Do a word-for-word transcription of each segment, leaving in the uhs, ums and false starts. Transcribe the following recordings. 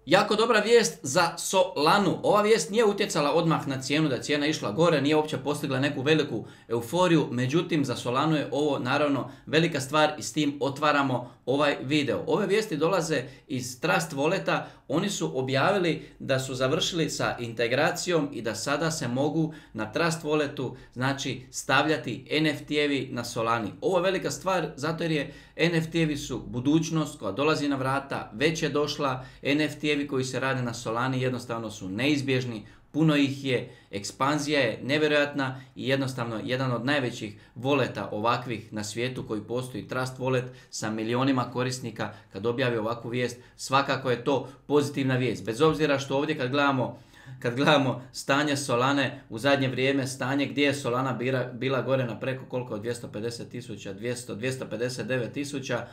Jako dobra vijest za Solanu. Ova vijest nije utjecala odmah na cijenu, da je cijena išla gore, nije uopće postigla neku veliku euforiju, međutim za Solanu je ovo naravno velika stvar i s tim otvaramo ovaj video. Ove vijesti dolaze iz Trust Walleta, oni su objavili da su završili sa integracijom i da sada se mogu na Trust Walletu znači stavljati N F T-evi na Solani. Ovo je velika stvar zato jer je N F T-evi su budućnost koja dolazi na vrata, već je došla, N F T-evi koji se rade na Solani jednostavno su neizbježni, puno ih je, ekspanzija je nevjerojatna i jednostavno jedan od najvećih voleta ovakvih na svijetu koji postoji, Trust Wallet sa milionima korisnika. Kad objavi ovakvu vijest, svakako je to pozitivna vijest. Bez obzira što ovdje kad gledamo Kad gledamo stanje Solane u zadnje vrijeme, stanje gdje je Solana bila, bila gore na preko koliko, dvjesto pedeset tisuća, dvjesto, dvjesto pedeset devet tisuća,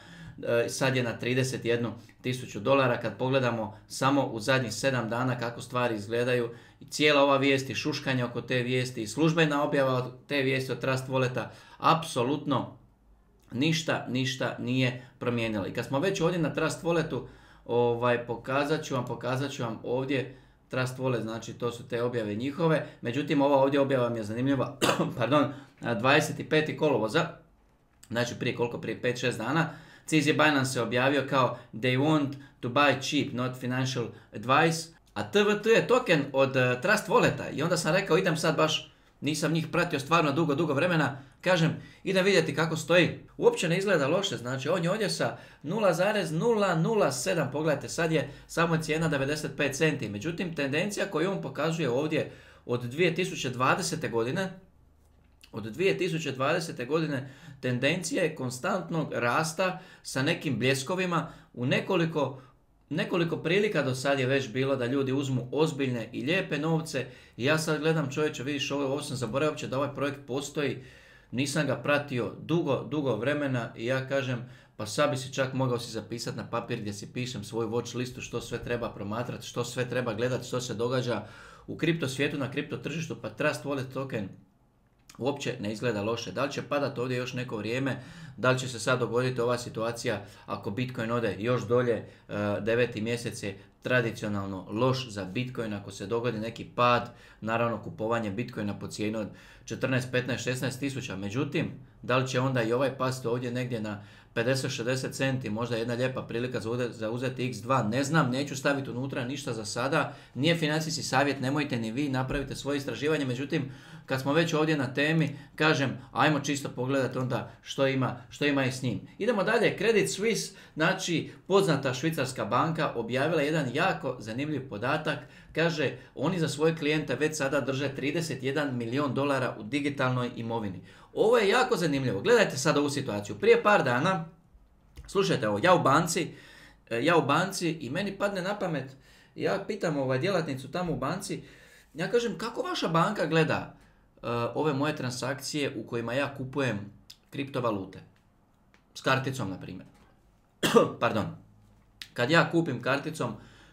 sad je na trideset jednu tisuću dolara. Kad pogledamo samo u zadnjih sedam dana kako stvari izgledaju, i cijela ova vijest i šuškanje oko te vijesti i službena objava od te vijesti od Trust Walleta, apsolutno ništa, ništa nije promijenilo. I kad smo već ovdje na Trust Walletu, ovaj, pokazat ću vam, pokazat ću vam ovdje Trust Wallet, znači to su te objave njihove. Međutim, ova ovdje objava mi je zanimljiva, pardon, dvadeset petog kolovoza, znači prije koliko, prije pet šest dana, C Z Binance se objavio kao they want to buy cheap, not financial advice, a T V T je token od uh, Trust Walleta i onda sam rekao idem sad baš, nisam njih pratio stvarno dugo, dugo vremena, kažem idem vidjeti kako stoji. Uopće ne izgleda loše, znači on je ovdje sa nula zarez nula nula sedam, pogledajte sad je samo cijena devedeset pet centi, međutim tendencija koju on pokazuje ovdje od dvije tisuće dvadesete godine, od dvije tisuće dvadesete godine tendencija je konstantnog rasta sa nekim bljeskovima. U nekoliko, nekoliko prilika do sad je već bilo da ljudi uzmu ozbiljne i lijepe novce i ja sad gledam, čovječe, vidiš ovo, ovo sam zaboravio uopće da ovaj projekt postoji, nisam ga pratio dugo, dugo vremena i ja kažem pa sad bi si čak mogao si zapisati na papir gdje si pišem svoju watch listu što sve treba promatrati, što sve treba gledati, što se događa u kripto svijetu, na kripto tržištu, pa Trust Wallet token uopće ne izgleda loše. Da li će padati ovdje još neko vrijeme, da li će se sad dogoditi ova situacija ako Bitcoin ode još dolje, deveti mjesec je tradicionalno loš za Bitcoin, ako se dogodi neki pad, naravno kupovanje Bitcoina po cijenu od četrnaest, petnaest, šesnaest tisuća, međutim, da li će onda i ovaj pasti ovdje negdje na pedeset šezdeset centi, možda jedna lijepa prilika za uzeti X dva, ne znam, neću staviti unutra ništa za sada, nije financijski savjet, nemojte ni vi, napravite svoje istraživanje, međutim, kad smo već ovdje na temi, kažem, ajmo čisto pogledati onda što ima, što ima i s njim. Idemo dalje, Credit Suisse, znači poznata švicarska banka, objavila jedan jako zanimljiv podatak, kaže, oni za svoje klijente već sada drže trideset jedan milijun dolara u digitalnoj imovini. Ovo je jako zanimljivo, gledajte sad ovu situaciju, prije par dana, slušajte ovo, ja u banci, ja u banci i meni padne na pamet, ja pitam ovaj djelatnicu tamo u banci, ja kažem, kako vaša banka gleda uh, ove moje transakcije u kojima ja kupujem kriptovalute? S karticom, na primjer. Pardon. Kad ja kupim karticom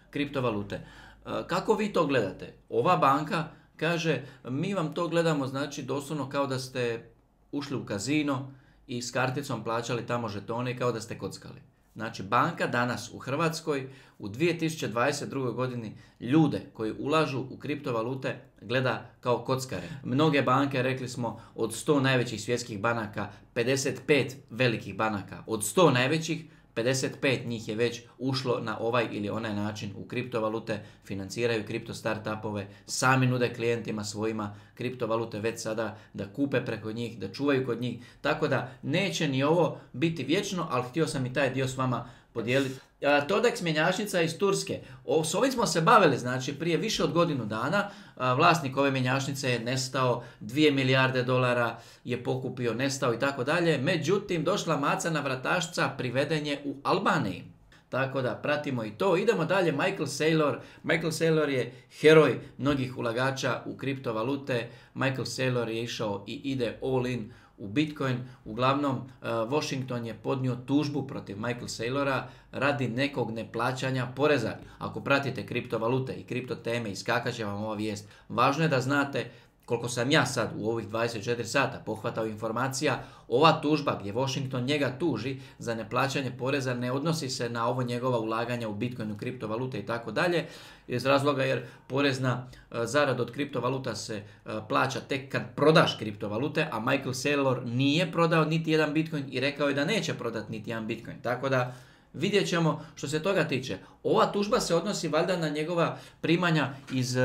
kriptovalute, uh, kako vi to gledate? Ova banka kaže, mi vam to gledamo, znači doslovno kao da ste ušli u kazino i s karticom plaćali tamo žetone kao da ste kockali. Znači, banka danas u Hrvatskoj u dvije tisuće dvadeset drugoj godini ljude koji ulažu u kriptovalute gleda kao kockare. Mnoge banke, rekli smo, od sto najvećih svjetskih banaka, pedeset pet velikih banaka, od sto najvećih, pedeset pet njih je već ušlo na ovaj ili onaj način u kriptovalute, financiraju kripto startupove, sami nude klijentima svojima kriptovalute već sada da kupe preko njih, da čuvaju kod njih. Tako da neće ni ovo biti vječno, ali htio sam i taj dio s vama podijeliti. Todex mjenjačnica iz Turske. O, s ovim smo se bavili, znači prije više od godinu dana. A, vlasnik ove mjenjačnice je nestao, dvije milijarde dolara je pokupio, nestao i tako dalje. Međutim, došla maca na vratašca, priveden je u Albaniji. Tako da pratimo i to. Idemo dalje, Michael Saylor. Michael Saylor je heroj mnogih ulagača u kriptovalute. Michael Saylor je išao i ide all in u Bitcoin. Uglavnom, uh, Washington je podnio tužbu protiv Michael Saylora radi nekog neplaćanja poreza. Ako pratite kriptovalute i kripto teme, iskakat će vam ova vijest. Važno je da znate koliko sam ja sad u ovih dvadeset četiri sata pohvatao informacija, ova tužba gdje Washington njega tuži za neplaćanje poreza ne odnosi se na ovo njegova ulaganja u Bitcoinu, kriptovalute i tako dalje, iz razloga jer porezna zarada od kriptovaluta se plaća tek kad prodaš kriptovalute, a Michael Saylor nije prodao niti jedan Bitcoin i rekao je da neće prodati niti jedan Bitcoin. Tako da vidjet ćemo što se toga tiče. Ova tužba se odnosi valjda na njegova primanja iz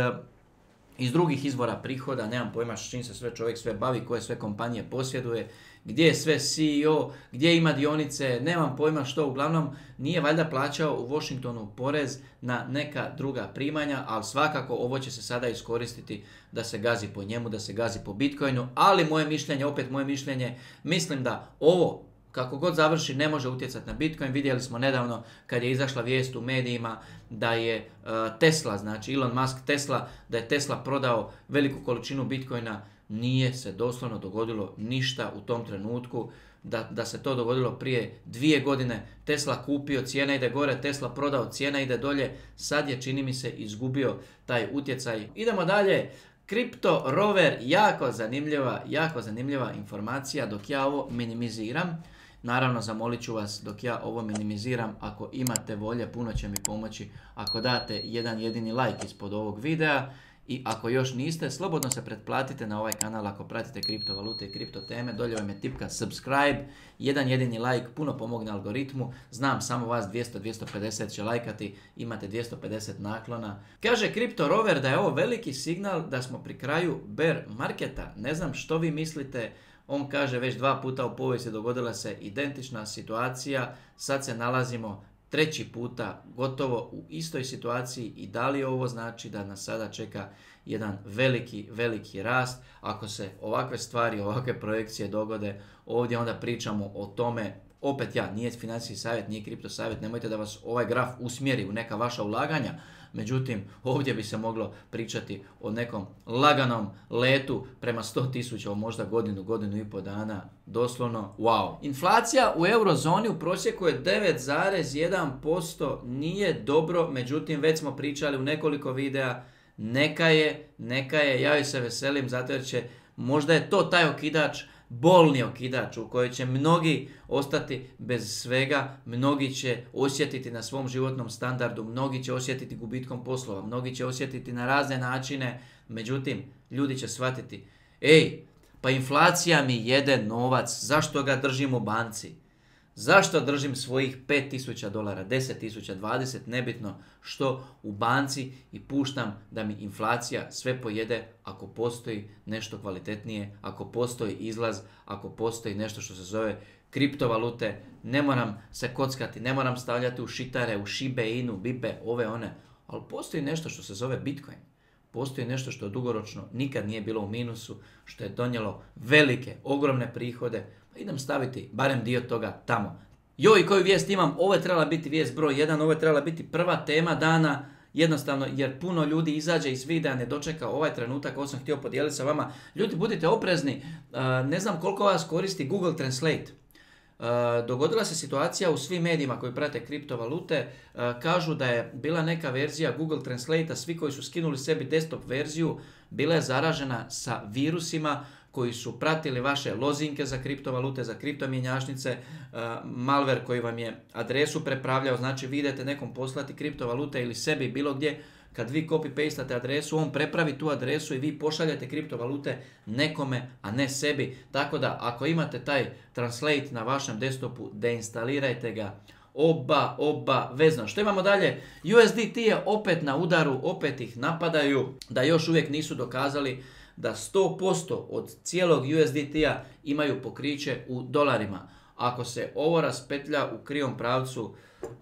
iz drugih izvora prihoda, nemam pojma s čim se sve čovjek sve bavi, koje sve kompanije posjeduje, gdje je sve C E O, gdje ima dionice, nemam pojma što, uglavnom nije valjda plaćao u Washingtonu porez na neka druga primanja, ali svakako ovo će se sada iskoristiti da se gazi po njemu, da se gazi po Bitcoinu, ali moje mišljenje, opet moje mišljenje, mislim da ovo kako god završi ne može utjecati na Bitcoin. Vidjeli smo nedavno kad je izašla vijest u medijima da je uh, Tesla, znači Elon Musk Tesla, da je Tesla prodao veliku količinu Bitcoina. Nije se doslovno dogodilo ništa u tom trenutku. Da, da se to dogodilo prije dvije godine, Tesla kupio, cijena ide gore, Tesla prodao, cijena ide dolje. Sad je, čini mi se, izgubio taj utjecaj. Idemo dalje. Crypto Rover, jako zanimljiva, jako zanimljiva informacija dok ja ovo minimiziram. Naravno, zamolit ću vas dok ja ovo minimiziram, ako imate volje, puno će mi pomoći ako date jedan jedini like ispod ovog videa. I ako još niste, slobodno se pretplatite na ovaj kanal ako pratite kriptovalute i kripto teme. Dolje vam je tipka subscribe, jedan jedini like, puno pomogne algoritmu. Znam, samo vas dvjesto do dvjesto pedeset će lajkati, imate dvjesto pedeset naklona. Kaže Crypto Rover da je ovo veliki signal da smo pri kraju bear marketa. Ne znam što vi mislite. On kaže već dva puta u povijesti dogodila se identična situacija, sad se nalazimo treći puta gotovo u istoj situaciji i da li ovo znači da nas sada čeka jedan veliki, veliki rast. Ako se ovakve stvari, ovakve projekcije dogode, ovdje onda pričamo o tome, opet ja, nije financijski savjet, nije kripto savjet, nemojte da vas ovaj graf usmjeri u neka vaša ulaganja. Međutim, ovdje bi se moglo pričati o nekom laganom letu prema sto tisuća, o možda godinu, godinu i pol dana. Doslovno, wow. Inflacija u eurozoni u prosjeku je devet zarez jedan posto, nije dobro, međutim već smo pričali u nekoliko videa, neka je, neka je, ja joj se veselim zato jer će, možda je to taj okidač, bolni okidač u kojoj će mnogi ostati bez svega, mnogi će osjetiti na svom životnom standardu, mnogi će osjetiti gubitkom poslova, mnogi će osjetiti na razne načine, međutim, ljudi će shvatiti, ej, pa inflacija mi jede novac, zašto ga držim u banci? Zašto držim svojih pet tisuća dolara, deset tisuća, dvadeset, nebitno što u banci i puštam da mi inflacija sve pojede ako postoji nešto kvalitetnije, ako postoji izlaz, ako postoji nešto što se zove kriptovalute, ne moram se kockati, ne moram stavljati u šitare, u šibe, inu, bibe, ove one, ali postoji nešto što se zove Bitcoin. Postoji nešto što dugoročno nikad nije bilo u minusu, što je donijelo velike, ogromne prihode. Pa idem staviti barem dio toga tamo. Joj, koju vijest imam? Ovo je trebala biti vijest broj jedan, ovo je trebala biti prva tema dana. Jednostavno, jer puno ljudi izađe iz videa, ne dočeka ovaj trenutak, ovo sam htio podijeliti sa vama. Ljudi, budite oprezni, ne znam koliko vas koristi Google Translate. Uh, dogodila se situacija u svim medijima koji prate kriptovalute, uh, kažu da je bila neka verzija Google Translate-a, svi koji su skinuli sebi desktop verziju, bila je zaražena sa virusima koji su pratili vaše lozinke za kriptovalute, za kriptomjenjačnice, uh, malware koji vam je adresu prepravljao, znači vi idete nekom poslati kriptovalute ili sebi bilo gdje, kad vi copy-pastate adresu, on prepravi tu adresu i vi pošaljete kriptovalute nekome, a ne sebi. Tako da, ako imate taj translate na vašem desktopu, deinstalirajte ga. Oba, oba, vezno. Što imamo dalje? U S D T je opet na udaru, opet ih napadaju, da još uvijek nisu dokazali da sto posto od cijelog U S D T-a imaju pokriće u dolarima. Ako se ovo raspetlja u krivom pravcu,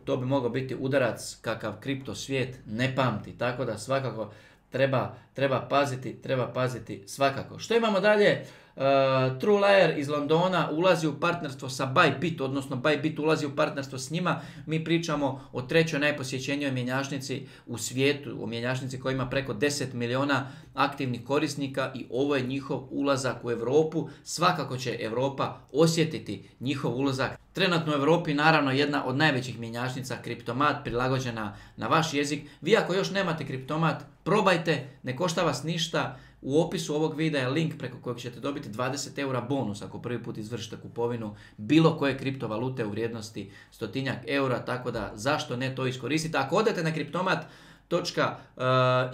to bi mogao biti udarac kakav kripto svijet ne pamti. Tako da svakako treba, treba paziti, treba paziti svakako. Što imamo dalje? Uh, TrueLayer iz Londona ulazi u partnerstvo sa Bybit, odnosno Bybit ulazi u partnerstvo s njima. Mi pričamo o trećoj najposjećenijoj mjenjačnici u svijetu, o mjenjačnici koja ima preko deset milijuna aktivnih korisnika i ovo je njihov ulazak u Europu. Svakako će Europa osjetiti njihov ulazak. Trenutno u Europi naravno jedna od najvećih mjenjačnica, Kriptomat, prilagođena na vaš jezik. Vi ako još nemate Kriptomat, probajte, ne košta vas ništa. U opisu ovog videa je link preko kojeg ćete dobiti dvadeset eura bonus ako prvi put izvršite kupovinu bilo koje kriptovalute u vrijednosti stotinjak eura, tako da zašto ne to iskoristiti. Ako odete na kriptomat točka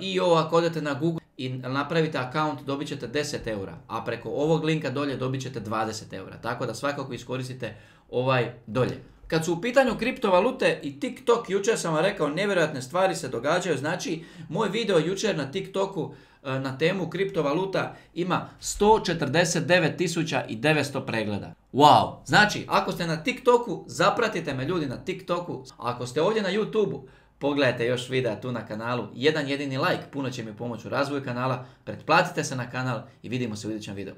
i o, ako odete na Google i napravite account, dobit ćete deset eura, a preko ovog linka dolje dobit ćete dvadeset eura, tako da svakako iskoristite ovaj dolje. Kad su u pitanju kriptovalute i TikTok, jučer sam vam rekao, nevjerojatne stvari se događaju. Znači, moj video jučer na TikToku na temu kriptovaluta ima sto četrdeset devet tisuća devetsto pregleda. Wow! Znači, ako ste na TikToku, zapratite me ljudi na TikToku. Ako ste ovdje na YouTubeu, pogledajte još videa tu na kanalu. Jedan jedini like puno će mi pomoći u razvoju kanala. Pretplatite se na kanal i vidimo se u idućem videu.